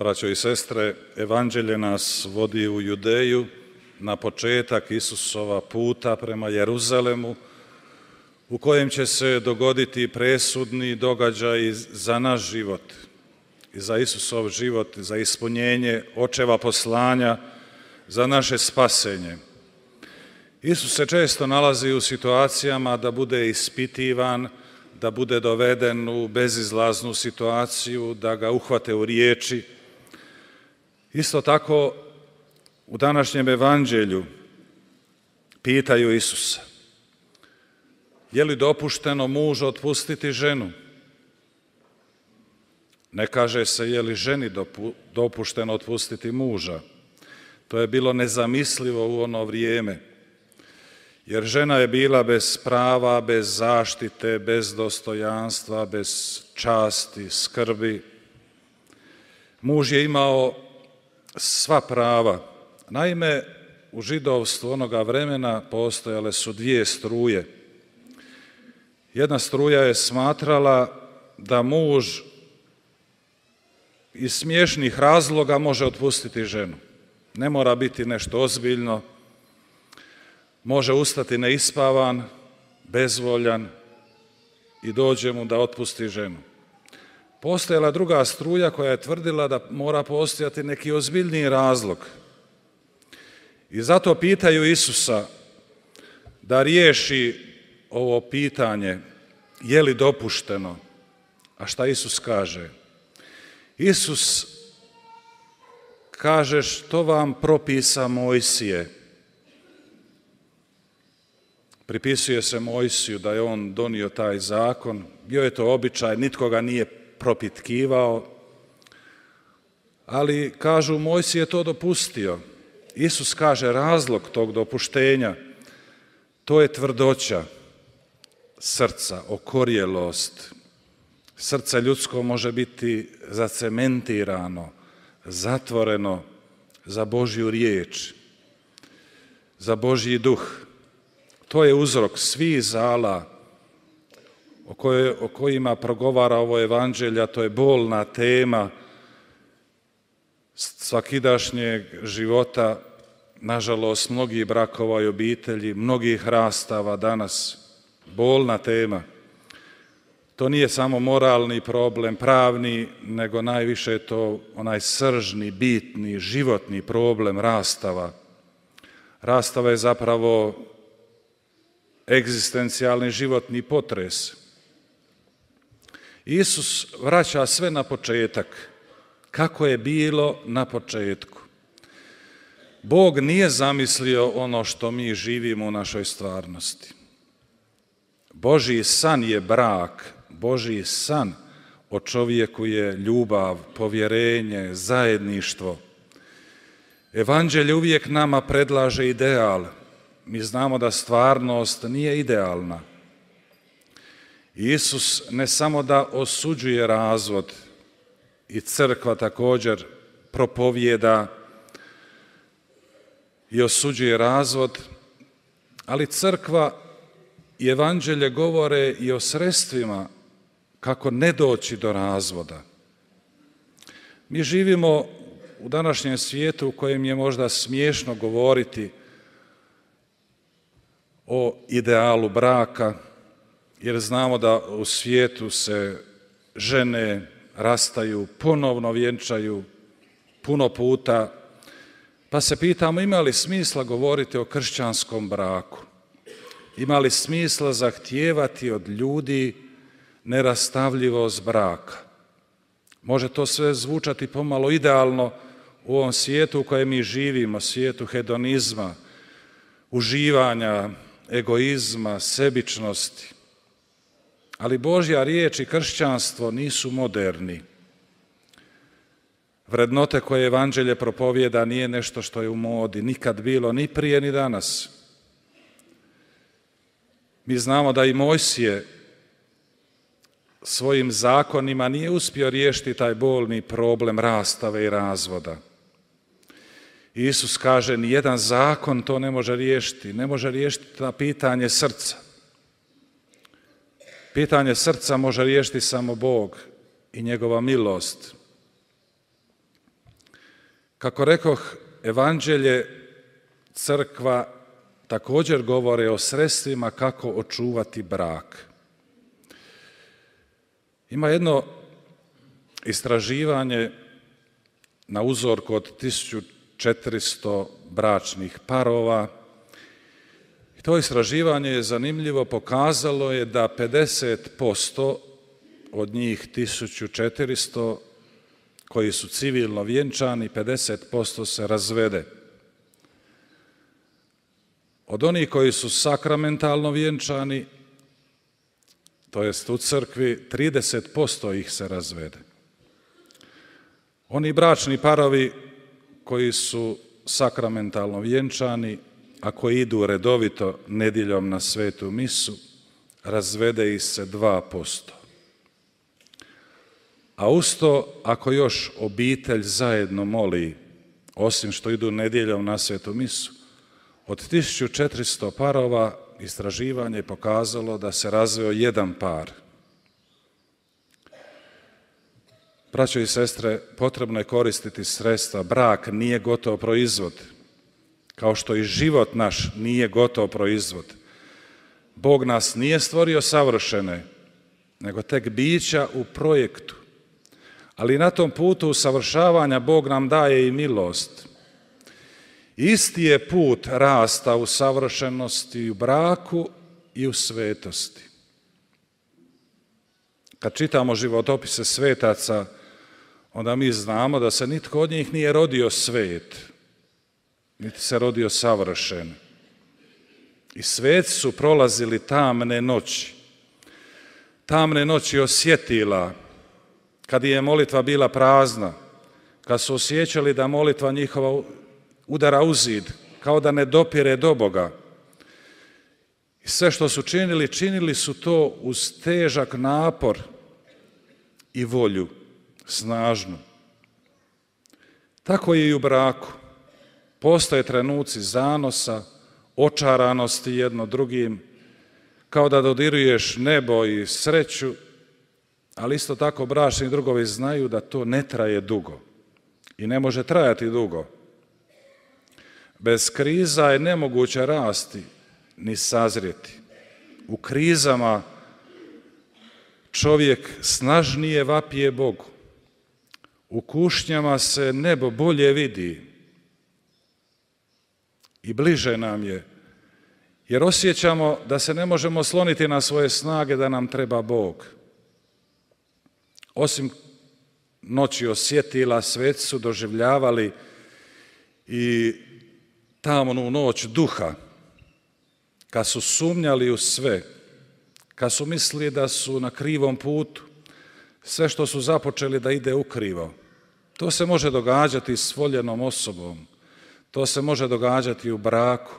Braćo i sestre, evanđelje nas vodi u Judeju na početak Isusova puta prema Jeruzalemu, u kojem će se dogoditi presudni događaj za naš život i za Isusov život, za ispunjenje očeva poslanja, za naše spasenje. Isus se često nalazi u situacijama da bude ispitivan, da bude doveden u bezizlaznu situaciju, da ga uhvate u riječi. Isto tako, u današnjem evanđelju pitaju Isusa: je li dopušteno mužu otpustiti ženu? Ne kaže se je li ženi dopušteno otpustiti muža. To je bilo nezamislivo u ono vrijeme, jer žena je bila bez prava, bez zaštite, bez dostojanstva, bez časti, skrbi. Muž je imao sva prava. Naime, u židovstvu onoga vremena postojale su dvije struje. Jedna struja je smatrala da muž iz smiješnih razloga može otpustiti ženu. Ne mora biti nešto ozbiljno, može ustati neispavan, bezvoljan i dođe mu da otpusti ženu. Postojala druga struja koja je tvrdila da mora postojati neki ozbiljniji razlog. I zato pitaju Isusa da riješi ovo pitanje, je li dopušteno? A šta Isus kaže? Isus kaže: što vam propisa Mojsije? Pripisuje se Mojsiju da je on donio taj zakon, bio je to običaj, nitko ga nije propitkivao, ali kažu Mojsije je to dopustio. Isus kaže razlog tog dopuštenja, to je tvrdoća srca, okorjelost. Srce ljudsko može biti zacementirano, zatvoreno za Božju riječ, za Božji duh. To je uzrok svih zala o kojima progovara ovo evanđelje, a to je bolna tema svakidašnjeg života, nažalost, mnogih brakova i obitelji, mnogih rastava danas, bolna tema. To nije samo moralni problem, pravni, nego najviše je to onaj sržni, bitni, životni problem rastava. Rastava je zapravo egzistencijalni životni potres. Isus vraća sve na početak, kako je bilo na početku. Bog nije zamislio ono što mi živimo u našoj stvarnosti. Božji san je brak, Božji san o čovjeku je ljubav, povjerenje, zajedništvo. Evanđelje uvijek nama predlaže ideal. Mi znamo da stvarnost nije idealna. Isus ne samo da osuđuje razvod, i crkva također propovijeda i osuđuje razvod, ali crkva i evanđelje govore i o sredstvima kako ne doći do razvoda. Mi živimo u današnjem svijetu u kojem je možda smiješno govoriti o idealu braka, jer znamo da u svijetu se žene rastaju, ponovno vjenčaju puno puta, pa se pitamo ima li smisla govoriti o kršćanskom braku? Ima li smisla zahtijevati od ljudi nerastavljivost braka? Može to sve zvučati pomalo idealno u ovom svijetu u kojem mi živimo, svijetu hedonizma, uživanja, egoizma, sebičnosti. Ali Božja riječ i kršćanstvo nisu moderni. Vrednote koje evanđelje propovijeda nije nešto što je u modi, nikad bilo, ni prije ni danas. Mi znamo da i Mojsije svojim zakonima nije uspio riješiti taj bolni problem rastave i razvoda. Isus kaže, nijedan zakon to ne može riješiti, ne može riješiti na pitanje srca. Pitanje srca može riješiti samo Bog i njegova milost. Kako rekoh, evanđelje, crkva također govore o sredstvima kako očuvati brak. Ima jedno istraživanje na uzorku od 1400 bračnih parova. I to istraživanje je zanimljivo, pokazalo je da 50% od njih 1400 koji su civilno vjenčani, 50% se razvede. Od onih koji su sakramentalno vjenčani, to jest u crkvi, 30% ih se razvede. Oni bračni parovi koji su sakramentalno vjenčani, a koji idu redovito nedjeljom na svetu misu, razvede ih se 2%. A uz to, ako još obitelj zajedno moli, osim što idu nedjeljom na svetu misu, od 1400 parova istraživanje je pokazalo da se razveo jedan par. Braćo i sestre, potrebno je koristiti sredstva. Brak nije gotov proizvod, kao što i život naš nije gotov proizvod. Bog nas nije stvorio savršene, nego tek bića u projektu. Ali na tom putu usavršavanja Bog nam daje i milost. Isti je put rasta u savršenosti u braku i u svetosti. Kad čitamo životopise svetaca, onda mi znamo da se nitko od njih nije rodio svet, niti se rodio savršen. I sveci su prolazili tamne noći osjetila, kad je molitva bila prazna, kad su osjećali da molitva njihova udara u zid, kao da ne dopire do Boga. I sve što su činili, činili su to uz težak napor i volju snažnu. Tako je i u braku. Postoje trenuci zanosa, očaranosti jedno drugim, kao da dodiruješ nebo i sreću, ali isto tako bračni drugovi znaju da to ne traje dugo i ne može trajati dugo. Bez kriza je nemoguće rasti ni sazrijeti. U krizama čovjek snažnije vapije Bogu. U kušnjama se nebo bolje vidi i bliže nam je, jer osjećamo da se ne možemo osloniti na svoje snage, da nam treba Bog. Osim noći osjetila, sveci su doživljavali i tamnu noć duha, kad su sumnjali u sve, kad su mislili da su na krivom putu, sve što su započeli da ide ukrivo. To se može događati s voljenom osobom, to se može događati u braku.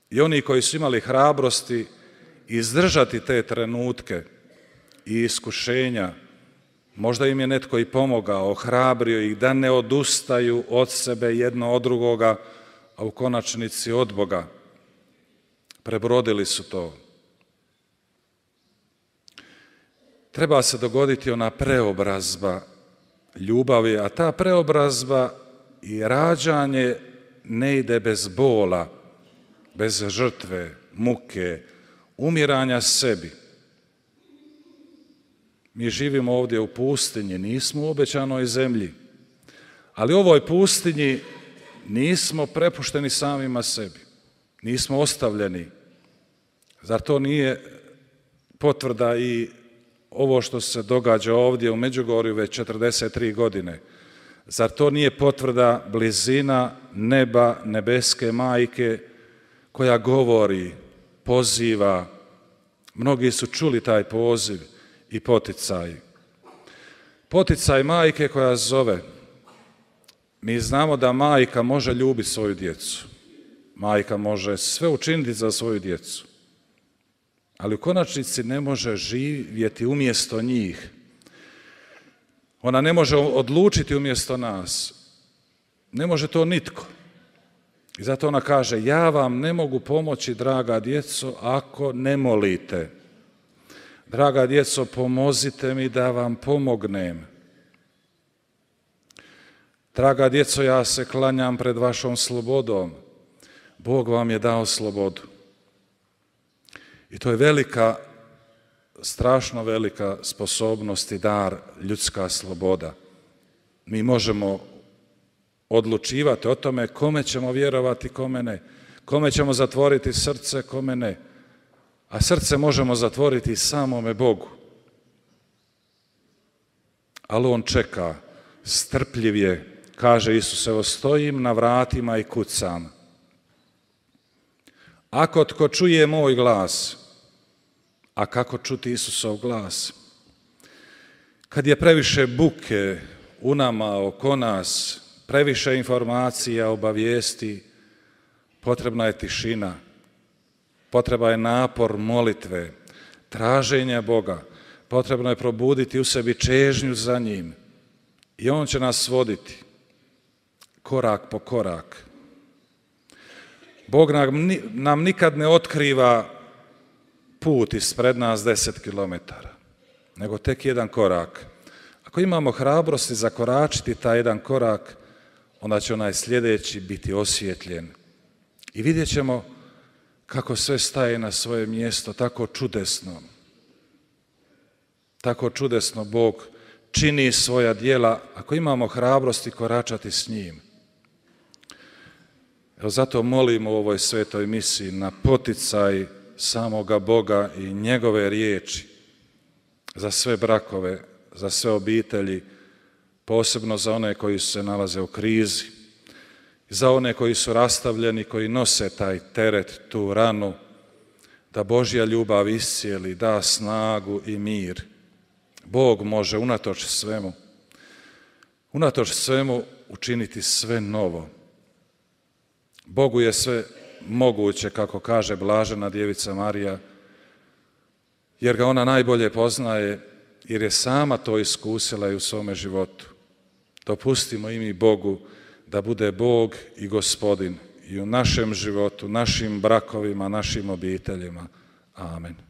I oni koji su imali hrabrosti izdržati te trenutke i iskušenja, možda im je netko i pomogao, ohrabrio ih da ne odustaju od sebe jedno od drugoga, a u konačnici od Boga. Prebrodili su to. Treba se dogoditi ona preobrazba ljubavi, a ta preobrazba i rađanje ne ide bez bola, bez žrtve, muke, umiranja sebi. Mi živimo ovdje u pustinji, nismo u obećanoj zemlji, ali u ovoj pustinji nismo prepušteni samima sebi, nismo ostavljeni. Zar to nije potvrda i ovo što se događa ovdje u Međugorju već 43 godine? Zar to nije potvrda blizina neba, nebeske majke koja govori, poziva? Mnogi su čuli taj poziv i poticaj. Poticaj majke koja zove. Mi znamo da majka može ljubiti svoju djecu. Majka može sve učiniti za svoju djecu. Ali u konačnici ne može živjeti umjesto njih. Ona ne može odlučiti umjesto nas. Ne može to nitko. I zato ona kaže, ja vam ne mogu pomoći, draga djeco, ako ne molite. Draga djeco, pomozite mi da vam pomognem. Draga djeco, ja se klanjam pred vašom slobodom. Bog vam je dao slobodu. I to je velika, strašno velika sposobnost i dar, ljudska sloboda. Mi možemo odlučivati o tome kome ćemo vjerovati, kome ne. Kome ćemo zatvoriti srce, kome ne. A srce možemo zatvoriti samome Bogu. Ali on čeka, strpljiv je, kaže Isus, evo stojim na vratima i kucam. Ako tko čuje moj glas, a kako čuti Isusov glas? Kad je previše buke u nama, oko nas, previše informacija, obavijesti, potrebna je tišina, potreba je napor molitve, traženja Boga, potrebno je probuditi u sebi čežnju za njim i on će nas voditi korak po korak. Bog nam nikad ne otkriva put ispred nas 10 kilometara, nego tek jedan korak. Ako imamo hrabrosti zakoračiti taj jedan korak, onda će onaj sljedeći biti osvjetljen. I vidjet ćemo kako sve staje na svoje mjesto, tako čudesno. Tako čudesno Bog čini svoja djela ako imamo hrabrosti koračati s njim. Evo zato molimo u ovoj svetoj misiji na poticaj samoga Boga i njegove riječi za sve brakove, za sve obitelji, posebno za one koji se nalaze u krizi, za one koji su rastavljeni, koji nose taj teret, tu ranu, da Božja ljubav iscijeli, da snagu i mir. Bog može unatoč svemu učiniti sve novo. Bogu je sve moguće, kako kaže blažena djevica Marija, jer ga ona najbolje poznaje, jer je sama to iskusila i u svome životu. Dopustimo i mi Bogu da bude Bog i Gospodin i u našem životu, našim brakovima, našim obiteljima. Amen.